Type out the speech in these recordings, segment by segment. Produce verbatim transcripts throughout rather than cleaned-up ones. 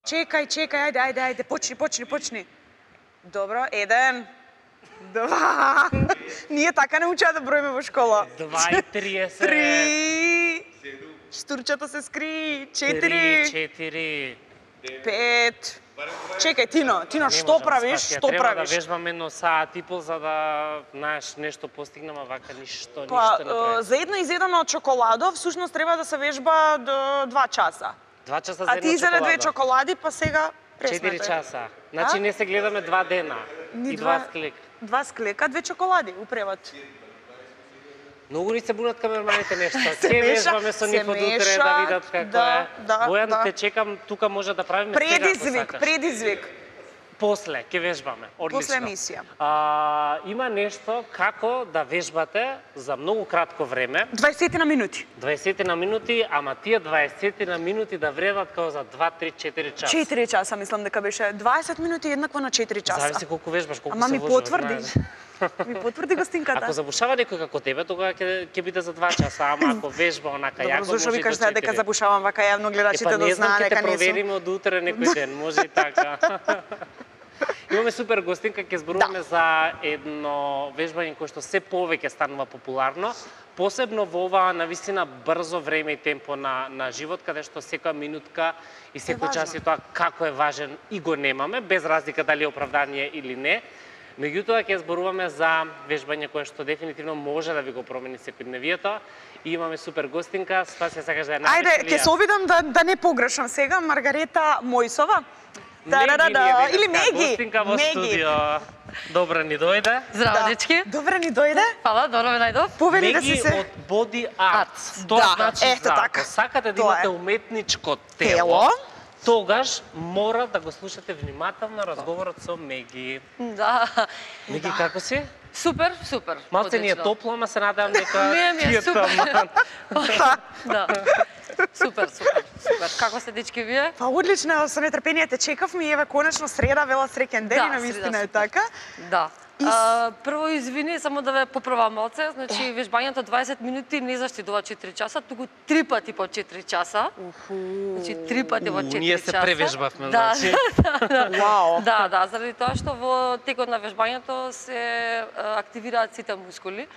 Чекај, чекај, ајде, ајде, ајде, почни, почни, почни. Добро, еден, два. Ние така не учеа да броиме во школа. Два и триесет. Три. Штурчата се скри. Четири. Три, четири. Пет. Чекај, Тино, Тино, што правиш? Што Треба правиш? да вежбам едно саат и пол за да, знаеш, нешто постигнам, а вака ништо, Па, ништо не правиш. за едно изедено чоколадо, всушност треба да се вежба до два часа. Два часа за А едно ти изеде две чоколада. чоколади, па сега Четири пресметај. часа. Значи не се гледаме два дена. Ни И два два- склек. Два склека, две чоколади, упреват. Многу ни се бунат камерманите нешто. Се Ке меша, вежбаме со се нив од утре меша, да видат како да, е. да, Бојан, да. те чекам, тука може да правиме сега ако Предизвик, сакаш. предизвик. После, ке вежбаме. Одлично. После емисија. А, има нешто како да вежбате за многу кратко време. дваесет на минути. дваесет на минути, ама тие дваесет на минути да вредат како за два, три, четири часа. четири часа, мислам дека беше. дваесет минути еднакво на четири часа. Зависи колку вежбаш, колку Ама се ми вложиш, потврди. знаеш. Ми потврди гостинката. Ако забушава некој како тебе, тогава ќе ќе биде за два часа, ама ако вежба онака Добро, јако зашо може и викаш до да дека четири. забушавам вака јавно Е, гледачите па да не знам, знаат ќе те дека не сум. провериме од утре некој ден, може и така. Имаме супер гостинка, ќе зборуваме Да. за едно вежбање кое што се повеќе станува популарно, посебно во ова навистина брзо време и темпо на на живот, каде што секоја минутка и секој час и тоа како е важен и го немаме, без разлика дали е оправдание или не. Меѓутоа ќе зборуваме за вежбање кое што дефинитивно може да ви го промени секојдневието и имаме супер гостинка, Спасија сакаш да ја најдеш Ајде, ќе се обидам да да не погрешам сега. Маргарета Мојсова. Та-да-да-да. Или Меги. Гостинка во Меги. студио. Добро ни дојде. Здраво, Да. дечки. Добре ни дојде. Фала, добро ме најдов. Повели да Меги си се од Body Art. Art. Тоа Да, значи ето за така. ако сакате да Тоа имате е. уметничко тело, тело. тогаш мора да го слушате внимателно разговорот со Меги. Да. Меги, како си? Супер, супер. Малце ни е одлично. топло, ама се надевам дека Не, ми е ти е супер. таман. Да. Супер, супер, супер. Како сте дечки вие? Па одлично, со нетрпение те чекавме и еве конечно среда, вела среќен ден Да, и на среда, вистина е супер. така. Да. И с- А, прво извини, само да ве поправам малце, значи вежбањето дваесет минути не заштидува четири часа, туку три пати по четири часа. Значи три пати во У, четири ние часа. се превежбавме, Да, значи. да, да. Вау. Да, да, заради тоа што во текот на вежбањето се а, активираат сите мускули.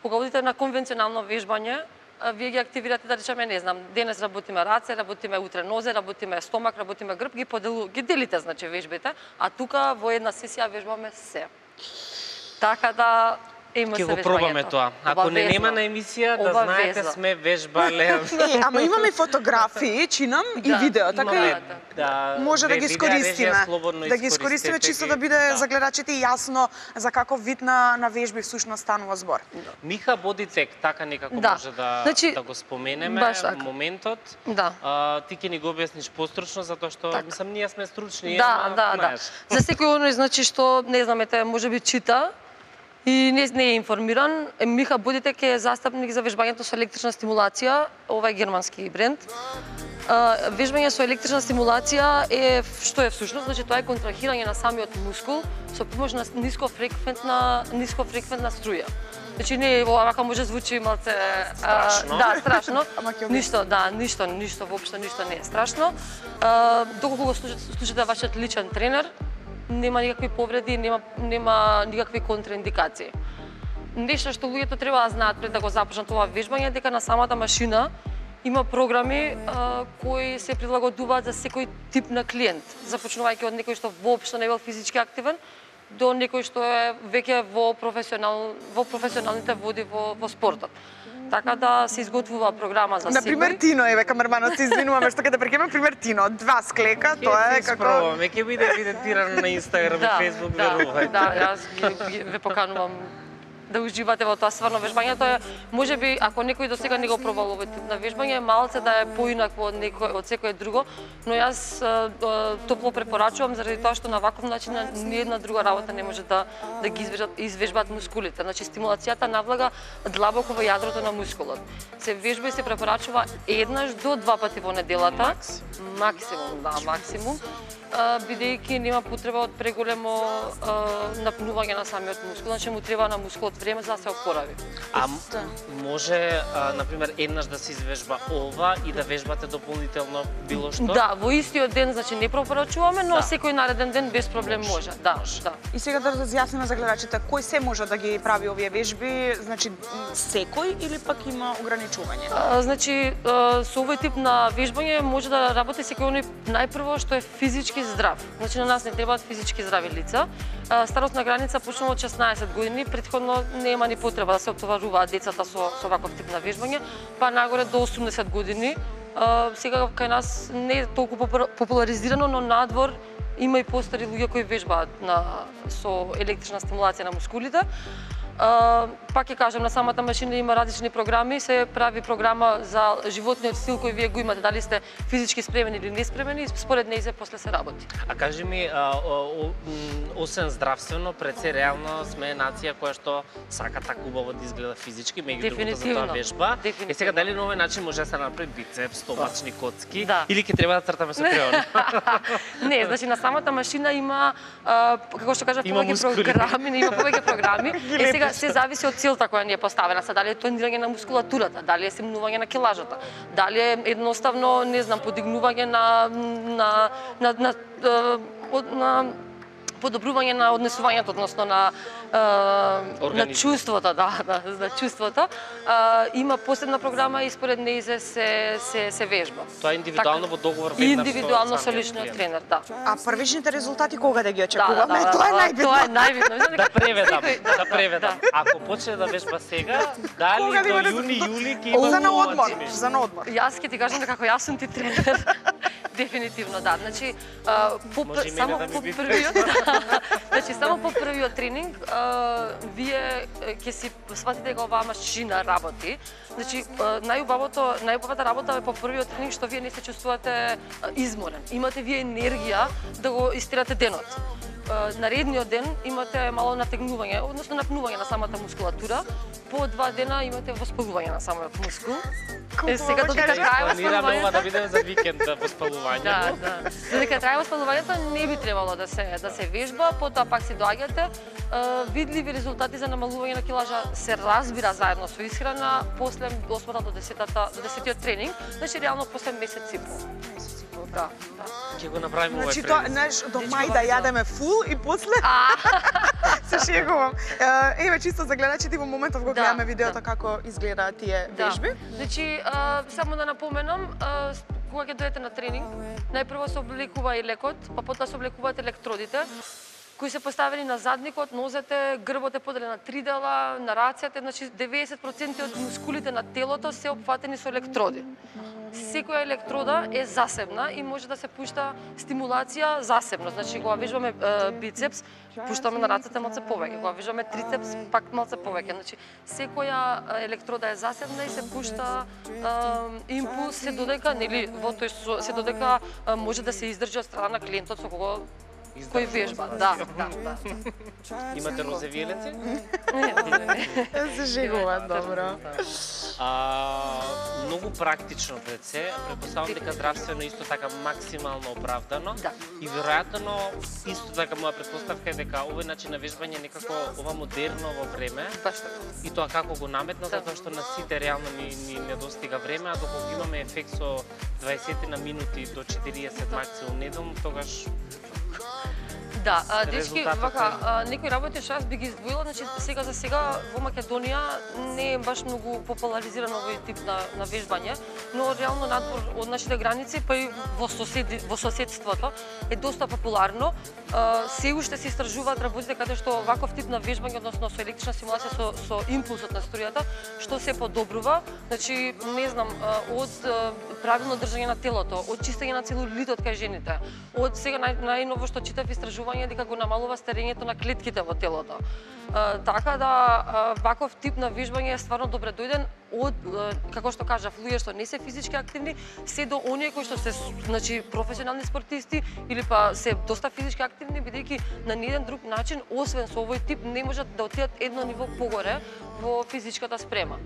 Кога одите на конвенционално вежбање, а, вие ги активирате, да речеме, не знам, денес работиме раце, работиме утре нозе, работиме стомак, работиме грб, ги поделу, ги делите, значи, вежбите, а тука во една сесија вежбаме се. Така да има Ќе се го пробаме вежбањето. тоа. Ако не Обавезно. нема на емисија, да Обавезно. знаете сме вежбале. Не, ама имаме фотографии, чинам и Да, видео, така имаме, и да, може да ве- ги видеа режија искористиме. слободно Да ги искористиме искористете чисто ги. да биде Да. за гледачите јасно за каков вид на на вежби всушност станува збор. Миха Бодитек, така некако Да. може да, Значи, да го споменеме баш така. моментот. Да. А, ти ќе ни го објасниш постручно, затоа што, Така. мислам, ние сме стручни. Да, ама, да, да. знаеш. За секој оној значи што не знам, ете, можеби чита и не, не е информиран, е, Миха Бодитек е застапник за вежбањето со електрична стимулација, ова е германски бренд. А, вежбање со електрична стимулација е што е всушност, значи тоа е контрахирање на самиот мускул со помош на нискофреквентна нискофреквентна струја. Значи не овака може звучи малце а, Страшно. да, страшно. Ама ќе Ништо, да, ништо, ништо воопшто ништо не е страшно. А, доколку го слушате, слушате вашиот личен тренер, нема никакви повреди, нема нема никакви контраиндикации. Нешто што луѓето треба да знаат пред да го започнат ова вежбање е дека на самата машина има програми а, кои се прилагодуваат за секој тип на клиент, започнувајќи од некој што воопшто не бил физички активен до некој што е веќе во професионал во професионалните води во во спортот. Така да се изготвува програма за Например секој. Тино, еве камерманот се извинуваме што ќе да прекинеме, пример Тино, два склека, Ќе тоа се е како испробаме, ќе биде евидентирано на Инстаграм и Фейсбук, да, верувајте. да, јас ги, ги, ве поканувам да уживате во тоа стварно вежбањето е, можеби ако некој до сега не го пробал овој тип на вежбање, малце да е поинакво од некој од секое друго, но јас а, а, топло препорачувам заради тоа што на ваков начин ни една друга работа не може да да ги извежбат, извежбат мускулите. Значи стимулацијата навлага длабоко во јадрото на мускулот. Се вежба и се препорачува еднаш до два пати во неделата. Максимум, да, максимум. бидејќи нема потреба од преголемо напнување на самиот мускул, значи му треба на мускулот време за да се опорави. А може, на пример, еднаш да се извежба ова и да вежбате дополнително било што? Да, во истиот ден, значи не пропорачуваме, но Да. секој нареден ден без проблем може. Да, да. И сега да разјасниме за гледачите, кој се може да ги прави овие вежби, значи секој или пак има ограничување? А, значи, а, со овој тип на вежбање може да работи секој оној најпрво што е физички здрав. Значи на нас не требаат физички здрави лица. А, старосна граница почнува од шеснаесет години, претходно нема ни потреба да се отоваруваат децата со со ваков тип на вежбање, па нагоре до осумдесет години. А, сега кај нас не е толку популаризирано, но надвор има и постари луѓе кои вежбаат на со електрична стимулација на мускулите. Uh, пак ќе кажам, на самата машина има различни програми, се прави програма за животниот стил кој вие го имате, дали сте физички спремени или неспремени, според нејзе после се работи. А кажи ми, а, о, о, освен здравствено, пред се реално сме нација која што сака така убаво да изгледа физички, меѓу другото за тоа вежба. Е сега дали на овој начин може да се направи бицепс, стомачни коцки, да. Или ќе треба да цртаме со креон? Не, значи на самата машина има, а, како што кажав, повеќе програми, не има повеќе програми. Е сега се зависи од целта која ни е поставена, са дали е тонирање на мускулатурата, дали е симнување на килажата, дали е едноставно, не знам, подигнување на на на на, на, на подобрување на однесувањето, односно на на чувството, да, да, на чувството. Има посебна програма и според нејзе се се се вежба. Тоа е индивидуално во договор веднаш индивидуално со личниот тренер, да. А првичните резултати кога да ги очекуваме? Да, да, да, тоа е најбитно. Тоа е најбитно. Да преведам, да преведам. Ако почне да вежба сега, дали до јуни, јули ќе има за на одмор, за на одмор. Јас ќе ти кажам дека како јас сум ти тренер. Дефинитивно да. Значи, по само по првиот, значи само по првиот тренинг, вие ќе си сватите дека оваа машина работи. Значи, најубавото, најубавата работа е по првиот тренинг што вие не се чувствувате изморен. Имате вие енергија да го истерате денот. Наредниот ден имате мало натегнување, односно напнување на самата мускулатура. По два дена имате воспалување на самиот мускул. Е, сега додека трае воспалувањето, да видиме за викенд воспалување. Да, да. Додека трае воспалувањето не би требало да се да се вежба, потоа пак си доаѓате. Видливи резултати за намалување на килажа се разбира заедно со исхрана после осмата до десетата до десетиот тренинг, значи реално после месец и пол. Да, да. Ќе го направиме овој Значи тоа, знаеш, до мај да јадеме фул и после се шегувам. Еве чисто за гледачите во моментов го гледаме видеото како изгледаат тие вежби. Значи, само да напоменам, кога ќе дојдете на тренинг, најпрво се облекува и лекот, па потоа се облекуваат електродите, кои се поставени на задникот, нозете, грбот е поделен на три дела, на рацете, значи деветдесет проценти од мускулите на телото се опфатени со електроди. Секоја електрода е засебна и може да се пушта стимулација засебно. Значи, кога вежбаме е, бицепс, пуштаме на рацете малце повеќе. Кога вежбаме трицепс, пак малце повеќе. Значи, секоја електрода е засебна и се пушта е, импулс се додека, нели, во тој се додека е, може да се издржи од страна на клиентот со кого кој вежба. Да, да, да. Имате розови еленци? Не, не, не. Се шегува, добро. А, многу практично пред се, претпоставам дека здравствено исто така максимално оправдано. Да. И веројатно исто така моја претпоставка е дека овој начин на вежбање некако ова модерно во време. Баш така. И тоа како го наметна, Да. затоа што на сите реално ни, ни недостига време, а доколку имаме ефект со дваесет на минути до четириесет максимум неделно, тогаш Да, а, дечки, резултатот вака, е- а, некои работи што јас би ги издвоила, значи сега за сега во Македонија не е баш многу популаризирано овој тип на, на вежбање, но реално надвор од нашите граници, па и во, соседи, во соседството е доста популарно. А, се уште се истражуваат работите каде што ваков тип на вежбање, односно со електрична стимулација со, со импулсот на струјата, што се подобрува, значи не знам, а, од а, правилно држање на телото, од чистење на целулитот кај жените, од сега нај, најново што читав истражување дека го намалува старењето на клетките во телото. А, така да а, ваков тип на вежбање е стварно добре дојден од, а, како што кажав, луѓе што не се физички активни, се до оние кои што се значи професионални спортисти или па се доста физички активни, бидејќи на ниеден друг начин, освен со овој тип, не можат да отидат едно ниво погоре во физичката спрема.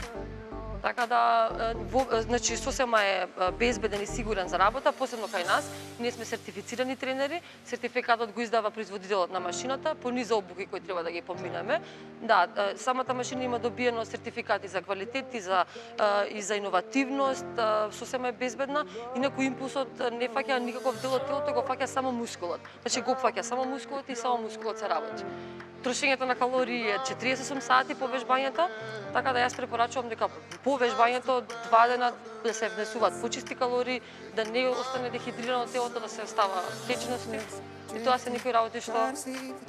Така да, во, значи, сосема е безбеден и сигурен за работа, посебно кај нас. Ние сме сертифицирани тренери, сертификатот го издава производителот на машината, по низа обуки кои треба да ги поминеме. Да, самата машина има добиено сертификати за квалитет и за, и за иновативност, сосема е безбедна, инаку импулсот не фаќа никаков дел од телото, го фаќа само мускулот. Значи го фаќа само мускулот и само мускулот се работи. Трошењето на калории е четириесет и осум сати по вежбањето, така да јас препорачувам дека по вежбањето два дена да се внесуваат почисти калории, да не остане дехидрирано телото, да се остава течности. И тоа се некои работи што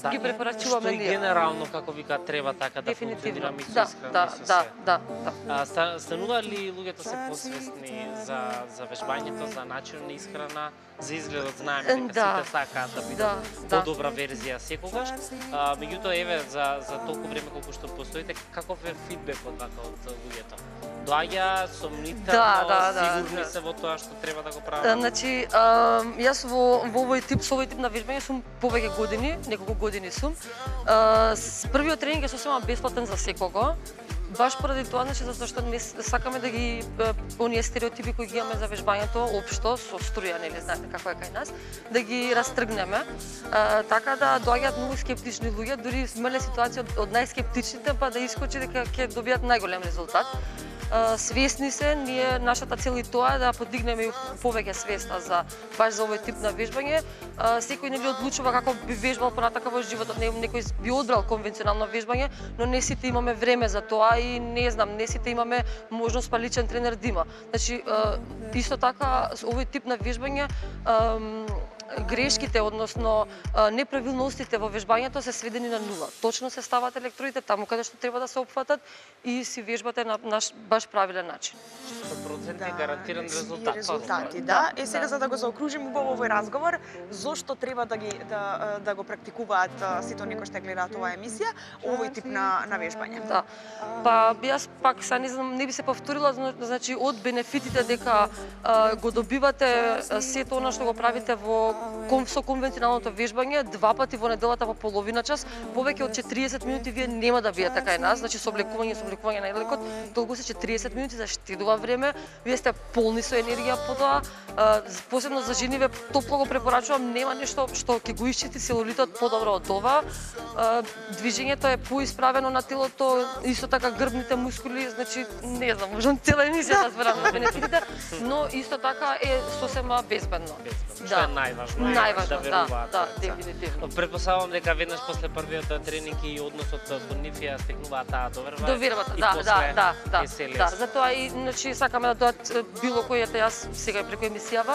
да, ги препорачуваме ние. Што и генерално, како вика, треба така да функционира мисло да, искрено. Да, да, да, да. А, станува ли луѓето се посвесни за, за вежбањето, за начинот на исхрана, за изгледот, знаеме дека да. сите сакаат да бидат да, подобра верзија секогаш. А, меѓутоа, еве, за, за толку време колку што постоите, каков е фидбекот вака од луѓето? Доаѓа сомнително, да, да, сигурни да, се во тоа што треба да го прават? Значи, а, јас во, во овој тип, со овој тип на вежбање сум повеќе години, неколку години сум. А, првиот тренинг е сосема бесплатен за секого. Баш поради тоа, значи, затоа што не сакаме да ги оние стереотипи кои ги имаме за вежбањето општо со струја, нели знаете како е кај нас, да ги растргнеме. А, така да доаѓаат многу скептични луѓе, дури имале ситуација од, од најскептичните па да искочи дека ќе добијат најголем резултат. Свесни се, ние нашата цел и тоа е да подигнеме повеќе свеста за баш за овој тип на вежбање. Секој нели одлучува како би вежбал понатака во животот, некој би одбрал конвенционално вежбање, но не сите имаме време за тоа и не знам, не сите имаме можност па личен тренер да има. Значи, исто така овој тип на вежбање грешките, односно неправилностите во вежбањето се сведени на нула. Точно се стават електродите таму каде што треба да се опфатат и си вежбате на наш баш правилен начин. сто проценти да, гарантиран резултат. Резултати, да. Е сега за да го заокружим убаво овој разговор, зошто треба да ги да да го практикуваат сите оние кои што гледаат оваа емисија, овој тип на на вежбање? Да. Па јас пак са не знам, не би се повторила, значи од бенефитите дека а, го добивате сето она што го правите во со конвенционалното вежбање, два пати во неделата по половина час, повеќе од четириесет минути вие нема да биете кај нас, значи со облекување, со облекување на лекот, толку се четириесет минути заштедува време, вие сте полни со енергија по тоа, посебно за жени ве топло го препорачувам, нема нешто што ќе го исчисти целулитот подобро од ова. Движењето е поисправено на телото, исто така грбните мускули, значи не знам, можам цела емисија да зборам на бенефитите, но исто така е сосема безбедно. Што е најважно, најважно, да веруваат. Да, да, дефинитивно. Предпоставувам дека веднаш после првиот тренинг и односот кон нив ја стекнуваат таа доверба. Довербата, да, да, да, да, да. Затоа и значи сакаме да дојдат било кој, ете јас сега преку емисијава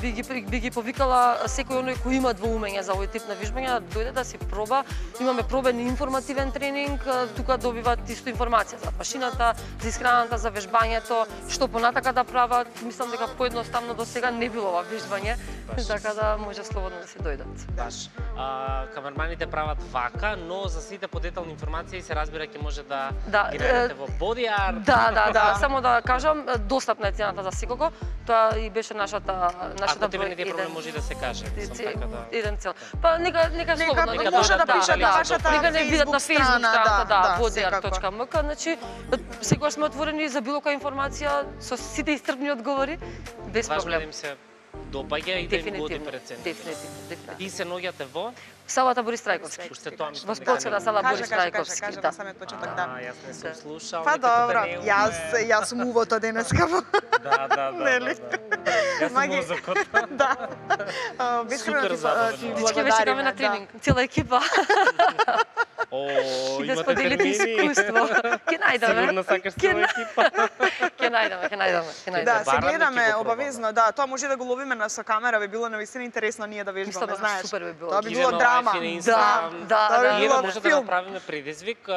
би ги би ги повикала секој оној кој има двоумење за овој тип на вежбање да дојде да си проба. Имаме пробен информативен тренинг, тука добиваат исто информација за машината, за исхраната, за вежбањето, што понатака да прават. Мислам дека поедноставно до сега не било ова вежбање, така да може слободно да се дојдат. Баш. А, камерманите прават вака, но за сите подетални информации се разбира ќе може да, да ги најдете во Bodyart. Да, да, да, само да кажам, достапна е цената за секого. Тоа и беше нашата нашата Ако тебе не е проблем може да се каже, сам така да. Еден цел. Па нека нека слободно нека може да пишат на вашата нека не видат на Facebook страната, да, bodyart точка ем ка, значи секогаш сме отворени за било која информација со сите истрпни одговори, без проблем. Важно се допаѓа и да им годи преценка. Дефинитивно, дефинитивно. И се наоѓате во салата Борис Трајковски. Уште тоа Во спортската сала Борис Трајковски, кажа, да. самиот почеток, да. Јас не сум слушал. Па добро, јас јас сум увото денеска. Да, да, да. Јас сум мозокот. Да. Супер забавно. Дички беше каме на тренинг, цела екипа. О, да споделите искуство. Ке најдеме. Сигурно сакаш цела екипа. Ке најдеме, ке најдеме, ке најдеме. Да, се гледаме обавезно, да, тоа може да го ловиме на со камера, би било навистина интересно ние да вежбаме, знаеш. Супер би било. Тоа би било драма. Да, да, да. И еве може да направиме предизвик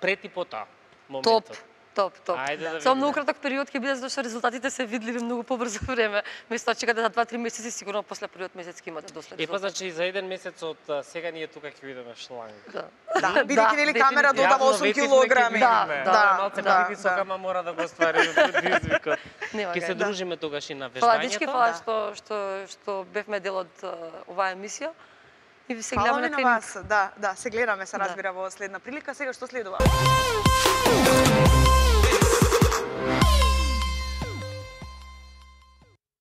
пред и по тоа моментот. Топ. Топ, топ. Само многу краток период ќе биде зашто резултатите се видливи многу побрзо време. Место чекате за два-три месеци, сигурно после првиот месец ќе имате доста резултати. Е па значи за еден месец од сега ние тука ќе видиме шланг. Да. Да, бидејќи нели камера додава осум килограми. Да, да, малце привисока, ама мора да го оствариме предизвикот. Ќе се дружиме тогаш и на вежбањето. Фала дечки, фала што што што бевме дел од оваа емисија. И ви се гледаме на тренинг. Да, да, се гледаме, се разбира во следна прилика. Сега што следува?